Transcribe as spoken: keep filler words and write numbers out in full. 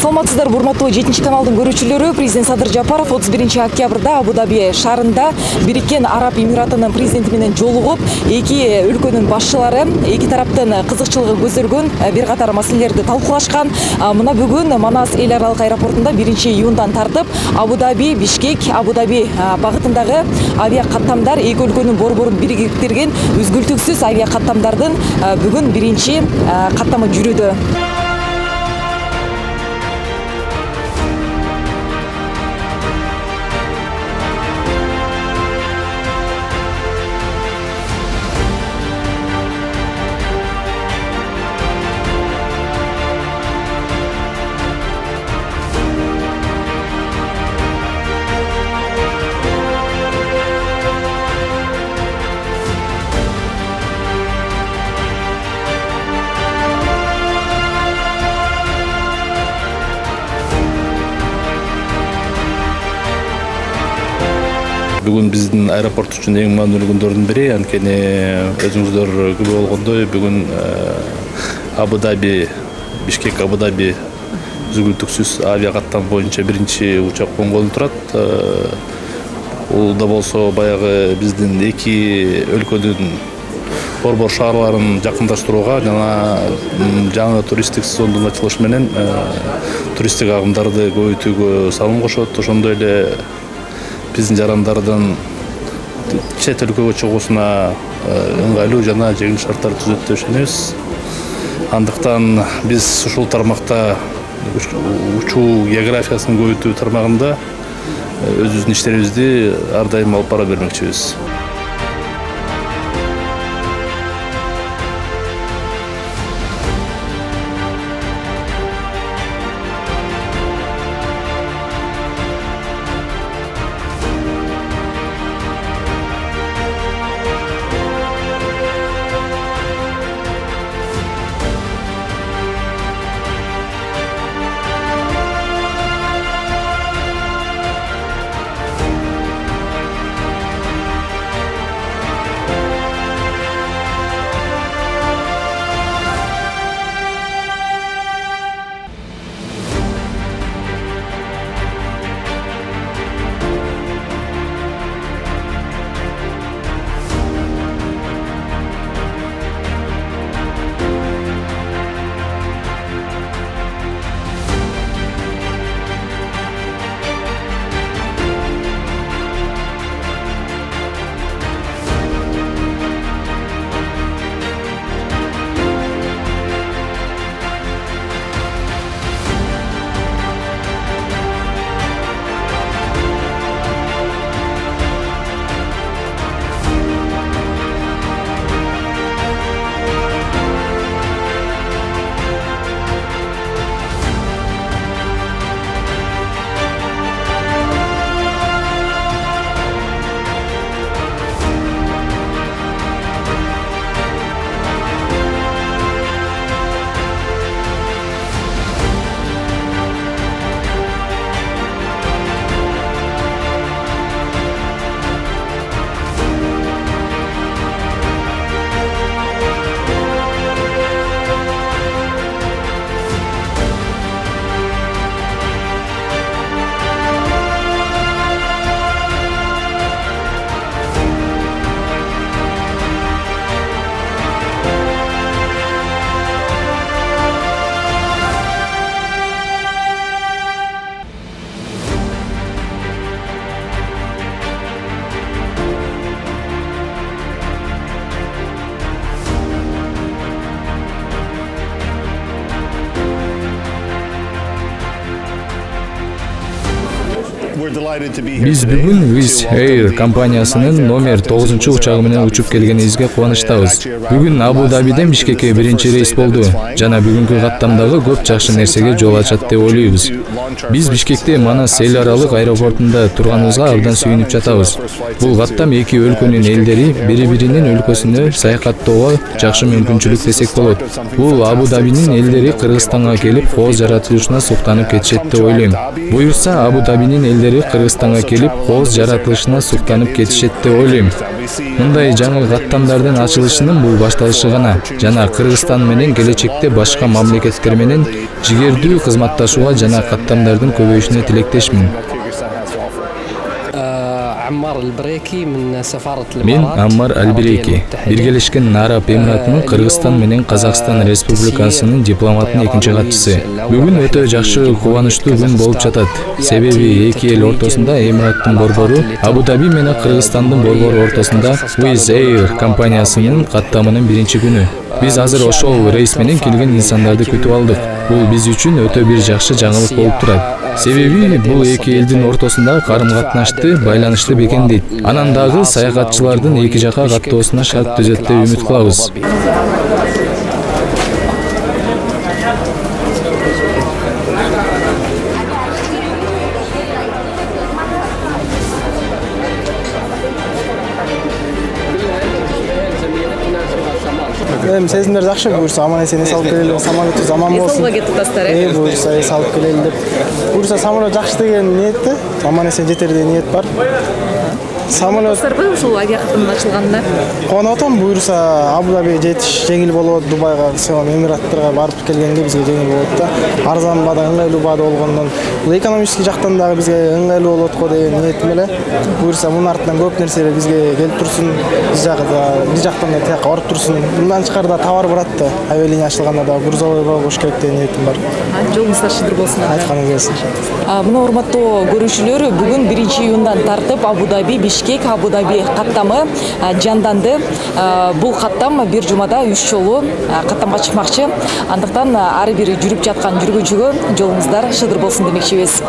Саламатсыздар, урматтуу жетинчи каналдын көрүүчүлөрү. Президент Садыр Жапаров отуз биринчи октябрда Абу-Даби шаарында Бириккен Араб Эмиратынын президенти менен жолугуп, эки өлкөнүн башчылары эки тараптын кызыкчылыгы көзөлгөн бир катар маселелерди талкуулашкан. Мына бүгүн Манас эл аралык аэропортунда биринчи июндан тартып Абу-Даби, Бишкек, Абу-Даби багытындагы авиа каттамдар эки өлкөнүн борборун бириктирген үзгүлтүксүз авиа каттамдардын бүгүн биринчи каттамы жүрүүдө. Бүгүн биздин аэропорт үчүн эң маанилүү күндөрдүн бири, анткени өзүңүздөр күбө болгондой бүгүн Абу-Даби, Бишкек Абу-Даби үзгүлтүксүз авиа каттам боюнча биринчи учак конгон турат. Бул да болсо баягы биздин эки өлкөнүн борбор шаарларын жакындаштырууга жана жаңы туристтик сезондун ачылышы менен туристтик агымдарды көбөйтүүгө салым кошот. Ошондой эле биздин жарандардын чет өлкөгө чыгуусуна ыңгайлуу жана жеңил шарттар түзөт деп ишенебиз. Андыктан биз ушул тармакта учуу географиясын көбөйтүү тармагында өзүбүздүн иштерибизди ар дайым алып бара бермекчибиз. Биз бүгүн Wizz Air компаниясынын номер тогузунчу учагы менен учуп келгенибизге кубанычтабыз. Бүгүн Абу-Дабиден Бишкекке биринчи рейс болду жана бүгүнкү каттамдагы көп жакшы нерсеге жол ачат деп ойлойбуз. Биз Бишкекте Манас эл аралык аэропортунда турганыбызга абдан сүйүнүп жатабыз. Бул каттам эки өлкөнүн элдери бири-биринин өлкөсүнө саякаттоого жакшы мүмкүнчүлүк десек болот. Бул Абу-Дабинин элдери Кыргызстанга келип кооз жаратылышына суктанып кетишет деп ойлойм. Буюрса Абу-Дабинин элдери Кыргызстанга келип кооз жаратылышына суктанып кетишет деп ойлойм. Мындай жаңы каттамдардын ачылышынын бул башталышы гана жана Кыргызстан менен келечекте башка мамлекеттер менен жигердүү кызматташууга жана каттамдардын көбөйүшүнө тилектешмин. Мен Аммар Албиреки, Биргелешкен Араб Эмиратынын Кыргызстан менен Казакстан Республикасынын дипломатынын экинчи катчысы. Бүгүн өтө жакшы, кубанычтуу күн болуп жатат. Себеби эки эл ортосунда Эмираттын борбору, Абу-Даби менен Кыргызстандын борбору ортосунда Wizz Air компаниясынын каттамынын биринчи күнү. Биз азыр ошол рейс менен келген инсандарды күтүп алдык. Бул биз үчүн өтө бир жакшы жаңылык болуп турат. Себеби бул эки элдин ортосунда карым-катнашты, байланышты бекемдейт. Анан дагы саякатчылардын эки жака каттоосуна шарт түзөт деп үмүт кылабыз. Эми сезимдер жакшы, буюрса аман эсен эс алып келели, самолетту заман болсун. Эс алып кетип атасыздар, э? Э, буюрса эс алып келели деп. Буюрса самолет жакшы деген ниетте, аман эсен жетер деген ниет бар. Самолет ушул авиа каттамдын ачылганына кубанып атам. Буюрса Абу-Даби жетиш жеңил болот, Дубайга, Эмираттарга барып келгенде бизге жеңил болот да. Арзан баада, ыңгайлуу баада болгондон бул экономический жактан дагы бизге ыңгайлуу болот го деген ниетим эле. Буюрса мунун артынан көп нерселер бизге келип турсун, биз жагда, биз жактан да тияка барып турсун. Мындан тышкары товар барат да. Авиалиния ачылганда да грузовой болуш керек деген ниетим бар. Жолуңуздар шыдыр болсун. Айтканыңыз келсин. Мына урматтуу көрүүчүлөр, бүгүн биринчи июндан тартып Абу-Даби, Бишкек, Абу-Даби каттамы жанданды. Бул каттам бир жумада үч жолу каттамга чыкмакчы. Андыктан ар бир жүрүп жаткан жүргүнчүгө жолуңуздар шыдыр болсун демекчибиз.